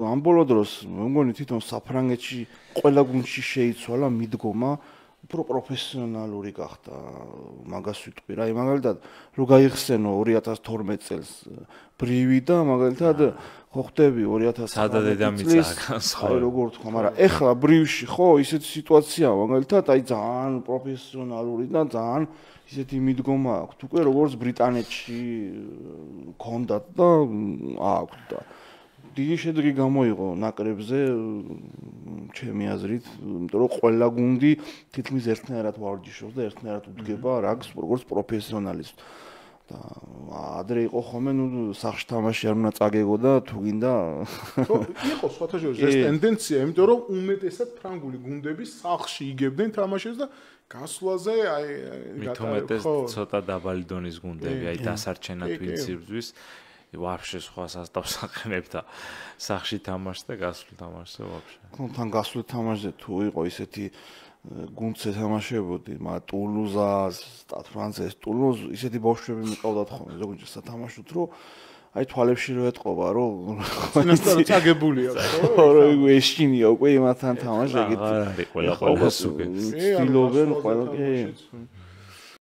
ამ ბოლო დროს მე მგონი თვითონ საფრანგეთში ყველა გუნდში შეიცვალა მიდგომა უფრო პროფესიონალური გახდა მაგას ვიტყვი რა მაგალითად რო გაიხსენო 2012 წელს ბრივი და მაგალითად ხო ხდები 2019 წელს აი როგორ თქვა მაგრამ ეხლა ბრივში ხო ისეთი სიტუაცია მაგალითად აი ძალიან პროფესიონალური და ძალიან ისეთი მიდგომა აქვს უკვე როგორც ბრიტანეთში ქონდათ და აქვს და დიდი შედეგი გამოიღო ნაკრებზე ჩემი აზრით, იმიტომ რომ ყველა გუნდი თითქმის ერთნაირად ვარჯიშობს და ერთნაირად უდგება რაგს როგორც პროფესიონალისტს. და ადრე იყო ხოლმე ნუ სახში თამაში არ უნდა წაგეგო და თუ გინდა ხო იყო სხვათა შორის ეს ტენდენცია, იმიტომ რომ უმეტესად ფრანგული გუნდები სახში იგებდნენ თამაშებს და გასვლაზე აი მithumetes ცოტა დაბალი დონის გუნდები, აი დასარჩენად ვინც იბრძვის ვაფშე სხვა სასტავს აყენებ და სახში თამაშს და გასვლით თამაშზე ვაფშე. ხო, თან გასვლით თამაშზე თუ იყო ისეთი გუნდზე თამაშებოდი, მაგრამ ტულუზა, სტად ფრანცეს, ტულუზ ისეთი ბავშვები მიყავდათ ხოლმე ზოგადად სათამაშოდ, რომ აი თვალებში რო ეთყობა, რომ წინასწარ წაგებულია, ხო, რომ ეშინია უკვე იმათთან თამაში ეგეთი. არა, ყველა სუგე. სტილობენ ყველა კი.